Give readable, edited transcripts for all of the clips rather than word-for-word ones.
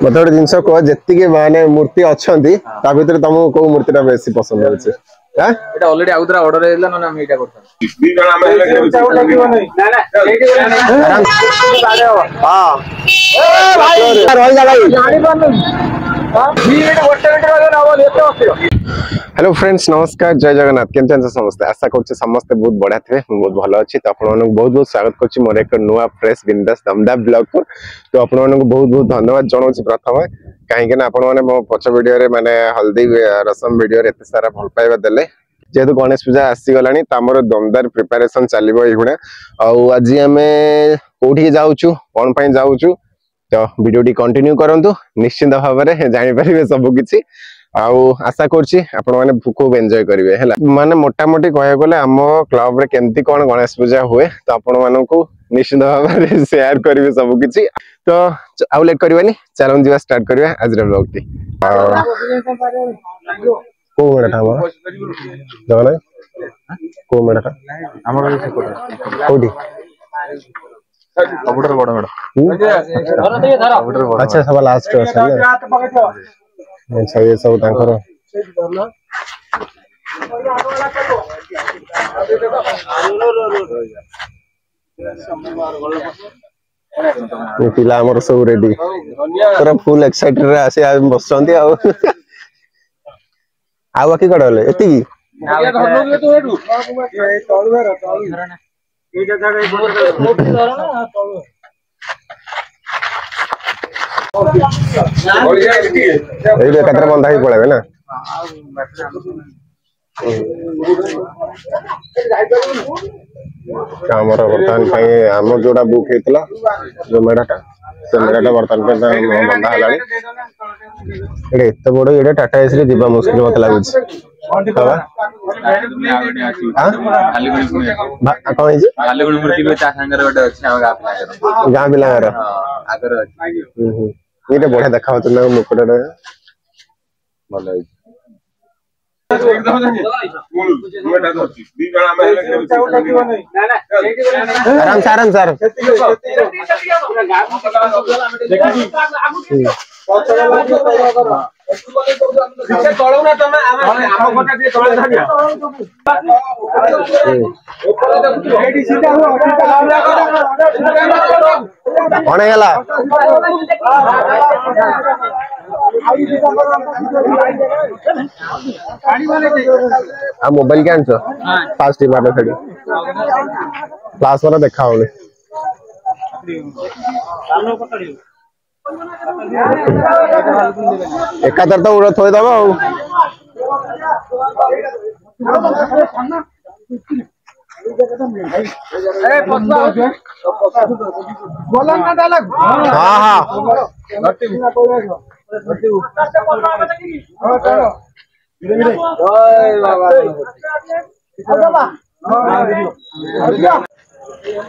ମତେ ଗୋଟେ ଜିନିଷ କୁହ, ଯେତିକି ମାନେ ମୂର୍ତ୍ତି ଅଛନ୍ତି ତା ଭିତରେ ତମକୁ କୋଉ ମୂର୍ତ୍ତି ଟା ବେଶୀ ପସନ୍ଦ ହଉଛି? ଏଇଟା ଅଲରେଡି ଆଉଥରେ ଅର୍ଡର ହେଇଥିଲା, ନହେଲେ ଆମେ ଏଇଟା କରିଥାନ୍ତୁ। ହ୍ୟାଲୋ ଫ୍ରେଣ୍ଡସ୍, ନମସ୍କାର, ଜୟ ଜଗନ୍ନାଥ। କେମିତି ଅଛନ୍ତି ସମସ୍ତେ? ଆଶା କରୁଛି ସମସ୍ତେ ବହୁତ ବଢିଆ ଥିବେ। ମୁଁ ବହୁତ ଭଲ ଅଛି। ତ ଆପଣମାନଙ୍କୁ ବହୁତ ବହୁତ ସ୍ୱାଗତ କରୁଛି ମୋର ଏକ ନୂଆ ଫ୍ରେଶ ବିନ୍ଦାସ ଦମଦାର ବ୍ଲଗକୁ। ତ ଆପଣମାନଙ୍କୁ ବହୁତ ବହୁତ ଧନ୍ୟବାଦ ଜଣାଉଛି ପ୍ରଥମେ, କାହିଁକି ନା ଆପଣମାନେ ମୋ ପଛ ଭିଡିଓରେ ମାନେ ହଳଦୀ ରସମ ଭିଡିଓରେ ଏତେ ସାରା ଭଲ ପାଇବା ଦେଲେ। ଯେହେତୁ ଗଣେଶ ପୂଜା ଆସିଗଲାଣି, ତ ଆମର ଦମଦାର ପ୍ରିପାରେସନ ଚାଲିବ ଏଇଗୁଣା। ଆଉ ଆଜି ଆମେ କୋଉଠିକି ଯାଉଛୁ, କଣ ପାଇଁ ଯାଉଛୁ, ତ ଭିଡିଓଟି କଣ୍ଟିନ୍ୟୁ କରନ୍ତୁ, ନିଶ୍ଚିନ୍ତ ଭାବରେ ଜାଣିପାରିବେ ସବୁ କିଛି। ଆଉ ଆଶା କରୁଛି ଆପଣମାନେ ଖୁବ ଏନ୍ଜୟ କରିବେ। ହେଲା, ମାନେ ମୋଟାମୋଟି କହିବାକୁ ଗଲେ ଆମ କ୍ଲବରେ କେମିତି କଣ ଗଣେଶ ପୂଜା ହୁଏ, ତ ଆପଣମାନଙ୍କୁ ନିଶ୍ଚିନ୍ତ ଭାବରେ ସେୟାର କରିବେ ସବୁ କିଛି। ତ ଆଉ ଲେଟ୍ କରିବାନି, ଚାଲନ୍ତୁ ଯିବା, ଷ୍ଟାର୍ଟ କରିବା ଆଜିର ବ୍ଲଗଟି। କୋଉ ମେଢଟା ଆମର ଜଗନ୍ନାଥ? କୋଉ ମେଢଟା ଆମର? କୋଉଠି ସବୁଠାରୁ ବଡ ମେଢ? ଆଚ୍ଛା, ସବା ଲାଷ୍ଟ ଅଛି। ଆଚ୍ଛା, ଇଏ ସବୁ ତାଙ୍କର ପିଲା ଆମର ସବୁ ରେଡି, ପୁରା ଫୁଲ ଏକ୍ସାଇଟେଡ ରେ ଆସି ବସିଛନ୍ତି। ଆଉ ଆଉ ବାକି କୁଆଡେ ଗଲେ? ଏତିକି ଏଇଠି ଏକାଥରେ ବନ୍ଧା ହେଇକି ପଳେଇବେ ନା? ଆମର ବର୍ତ୍ତମାନ ପାଇଁ ଆମର ଯୋଉଟା ବୁକ୍ ହେଇଥିଲା, ଯୋଉ ମେଢଟା, ସେ ମେଢଟା ବର୍ତ୍ତମାନ ପାଇଁ ବନ୍ଧା ହେଲାଣି। ଏଇଟା ଏତେ ବଡ, ଏଇଟା ଟାଟା ଏସି ରେ ଯିବା ମୁସ୍କିଲ ମତେ ଲାଗୁଛି। କଣ ହେଇଛି? ଗାଁ ପିଲାଙ୍କର ଏଇଟା ବଢିଆ ଦେଖା ହଉଛି ନା ମୁକୁଟଟା? ଭଲ ହେଇଛି। ଆରାମ ସେ, ଆରାମ ସେ, ଆରାମ। କଣ ହେଇଗଲା? ଆଉ ମୋବାଇଲ କି ଆଣିଛ? ଫାଷ୍ଟ ମାର, ସେଠି କ୍ଲାସ ବାଲା ଦେଖା ହଉନି। ଏକାଥରେ ତ ଉଡ ଥୋଇଦବ। ଆଉ ହଁ ହଁ,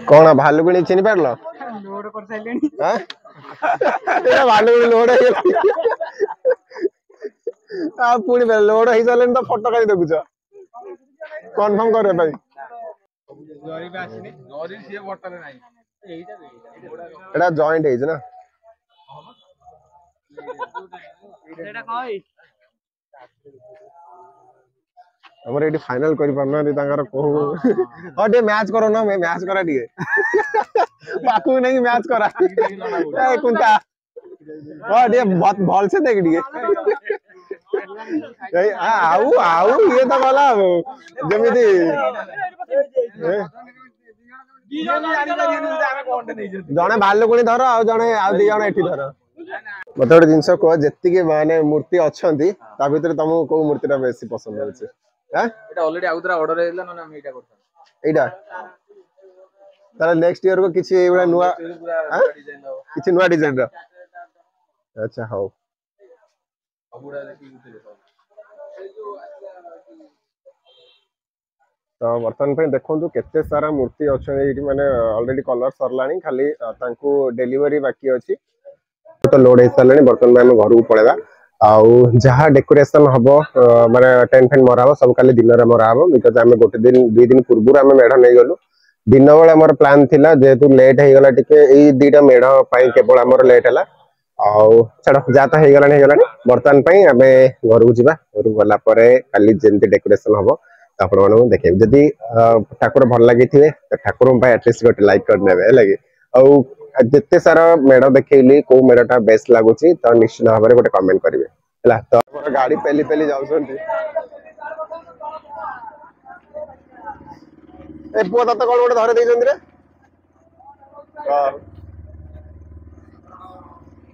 କଣ ଭାଲୁକୁଣି ଚିହ୍ନି ପାରିଲ? ଭାଲୁକୁଣି ଲୋଡ ହେଇଗଲା, ଆଉ ପୁଣି ଲୋଡ ହେଇସାରିଲେଣି ତ ଫଟୋ କାହିଁ ଦେଖୁଛ କନଫର୍ମ କରିବା ପାଇଁ? ଏଟା ଜଏଣ୍ଟ ହେଇଛି ନା? ଆମର ଏଇଠି ଫାଇନାଲ କରିପାରୁନାହାନ୍ତି ତାଙ୍କର କୋଉ। ହଁ, ଟିକେ ମ୍ୟାଚ୍ କର ନା, ମ୍ୟାଚ୍ କରା ଟିକେ, ପାଖକୁ ନେଇକି ମ୍ୟାଚ୍ କରା। କୁନ୍ତା, ହଁ, ଟିକେ ଭଲସେ ଦେଖ ଟିକେ। ଆଉ ଆଉ ଇଏ ତ ଗଲା ଯେମିତି ଜଣେ ଭାଲୁକୁଣି ଧର, ଆଉ ଜଣେ, ଆଉ ଦି ଜଣ ଏଠି ଧର। ମତେ ଗୋଟେ ଜିନିଷ କୁହ, ଯେତିକି ମାନେ ମୂର୍ତ୍ତି ଅଛନ୍ତି ତା ଭିତରେ ତମକୁ କୋଉ ମୂର୍ତ୍ତି ଟା ବେଶୀ ପସନ୍ଦ ହଉଛି? ଏଇଟା ଅଲରେଡି ଆଉଥରେ ଅର୍ଡର ହେଇଥିଲା, ନହେଲେ ଆମେ ଏଇଟା କରିଥାନ୍ତୁ। ଏଇଟା ତାହେଲେ ନେକ୍ସଟ ଇୟର କୁ କିଛି ଏଇଭଳିଆ ନୂଆ, କିଛି ନୂଆ ଡିଜାଇନ ର? ଆଚ୍ଛା, ହଉ। ତ ବର୍ତ୍ତମାନ ପାଇଁ ଦେଖନ୍ତୁ କେତେ ସାରା ମୂର୍ତ୍ତି ଅଛନ୍ତି ଏଇଠି, ମାନେ ଅଲରେଡି କଲର ସରିଲାଣି, ଖାଲି ତାଙ୍କୁ ଡେଲିଭରି ବାକି ଅଛି। ତ ଲୋଡ ହେଇସାରିଲାଣି, ବର୍ତ୍ତମାନ ପାଇଁ ଆମେ ଘରକୁ ପଳେଇବା। ଆଉ ଯାହା ଡେକୋରେସନ ହବ, ମାନେ ଟେଣ୍ଟ ଫେଣ୍ଟ ମରା ହବ, ସବୁ କାଲି ଦିନରେ ମରା ହବ। Because ଆମେ ଗୋଟେ ଦିନ 2 ଦିନ ପୂର୍ବରୁ ଆମେ ମେଢ ନେଇଗଲୁ। ଦିନ ବେଳେ ଆମର ପ୍ଲାନ୍ ଥିଲା, ଯେହେତୁ ଲେଟ୍ ହେଇଗଲା ଟିକେ, ଏଇ ଦିଟା ମେଢ ପାଇଁ କେବଳ ଆମର ଲେଟ୍ ହେଲା। ଆଉ ଛାଡ଼, ଯାହା ତ ହେଇଗଲାଣି ହେଇଗଲାଣି। ବର୍ତ୍ତମାନ ପାଇଁ ଆମେ ଘରକୁ ଯିବା। ଘରକୁ ଗଲା ପରେ କାଲି ଯେମିତି ଡେକୋରେସନ ହବ ତ ଆପଣମାନଙ୍କୁ ଦେଖେଇବି। ଯଦି ଠାକୁର ଭଲ ଲାଗିଥିବେ ତ ଠାକୁରଙ୍କ ପାଇଁ ଆଟଲିଷ୍ଟ ଗୋଟେ ଲାଇକ୍ କରିନେବେ, ହେଲା କି? ଆଉ ଯେତେ ସାରା ମେଢ ଦେଖେଇଲି, କୋଉ ମେଢଟା ବେଷ୍ଟ ଲାଗୁଛି ତ ନିଶ୍ଚିତ ଭାବରେ ଗୋଟେ କମେଣ୍ଟ କରିବେ, ହେଲା? ତ ଆମର ଗାଡି ପେଲି ପେଲି ଯାଉଛନ୍ତି। ଏ ପୁଅ, ତତେ କଣ ଗୋଟେ ଧରି ଦେଇଛନ୍ତି ରେ? ହଁ,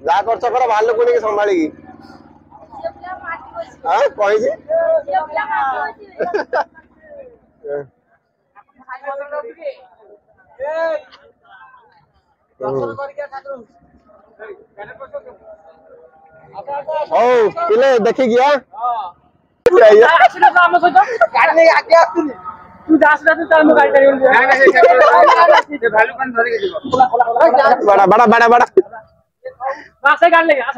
ଯାହା କରୁଛ କର, ଭାଲୁକୁ ନେଇକି ସମ୍ଭାଳିକି। ହଁ, କହିଛି। ହଉ ପିଲେ, ଦେଖିକି। ଆମ ସହିତ ଗାଡି ନେଇକି ଆଗେ ଆସୁନି। ତୁ ଯା ଆସିଲା, ତାହେଲେ ମୁଁ ଗାଡି ପାରିବିନି। ବାଡା ବାଡା ବାଡା ବାଡା। ଆସେ, ଗାଡି ନେଇକି ଆସ।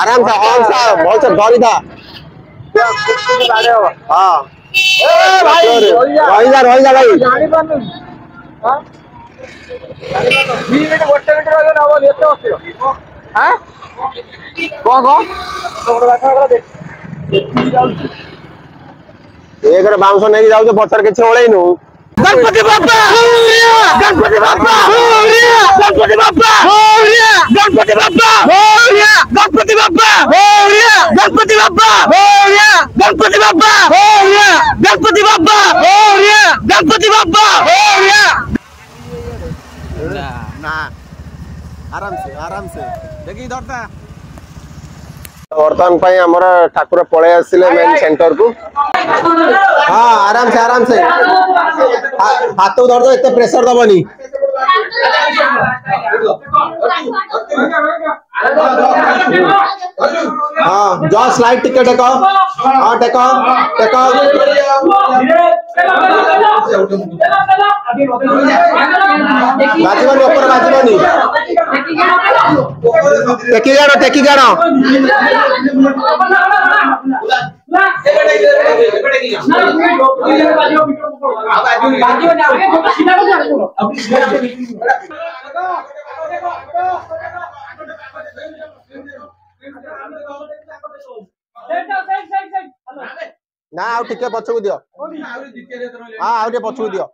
आराम से, आराम से, बहुत से धरी था। हाँ भाई, रही जा, रही जा ଭାଇ। ଜାଣିପାରୁନୁ? 2 ମିନିଟ୍, ଗୋଟେ ମିନିଟ୍ ରହିବ ହବ, ଏତେ ଅସ୍ଥିର। କଣ କଣ? ଏକରେ ବାଉଁଶ ନେଇକି ଯାଉଛ, ପଛରେ କିଛି ଓଳେଇନୁ। ଗଣପତି ବାପ୍ପା, ଗଣପତି ବାପ୍ପା, ଗଣପତି ବାପ୍ପା, ଗଣପତି ବାପ୍ପା, ଗଣପତି ବାପ୍ପା, ଗଣପତି ବାପ୍ପା, ଗଣପତି ବାପ୍ପା, ଗଣପତି ବାପ୍ପା, ଗଣପତି ବାପ୍ପା। ନା, आराम से, आराम से, ଦେଖିକି ଧରତା। ବର୍ତ୍ତମାନ ପାଇଁ ଆମର ଠାକୁର ପଳେଇ ଆସିଲେ ମେନ୍ ସେଣ୍ଟର କୁ। ହଁ, ଆରାମ ସେ, ଆରାମ ସେ, ହାତକୁ ଧରିଦବ, ଏତେ ପ୍ରେସର ଦବନି। ହଁ, ଜଷ୍ଟ ସ୍ଲାଇଡ ଟିକେ ଟେକ। ହଁ, ଟେକ, ଟେକ। ବାଜିବନି, ଉପରେ ବାଜିବନି। ଟେକି ଆଣ, ଟେକି ଆଣ। ନା, ଆଉ ଟିକେ ପଛକୁ ଦିଅ। ହଁ, ଆଉ ଟିକେ ପଛକୁ ଦିଅ।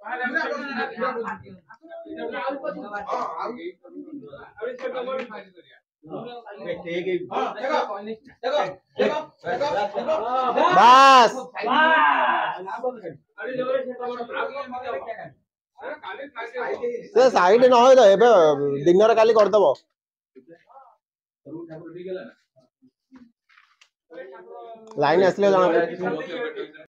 ବାସ୍, ସେ ସାଇଡ ନ ତ ଏବେ ଦିନରେ, କାଲି କରିଦବ। ଲାଇନ ଆସିଲେ ଜଣା ପଡିବ।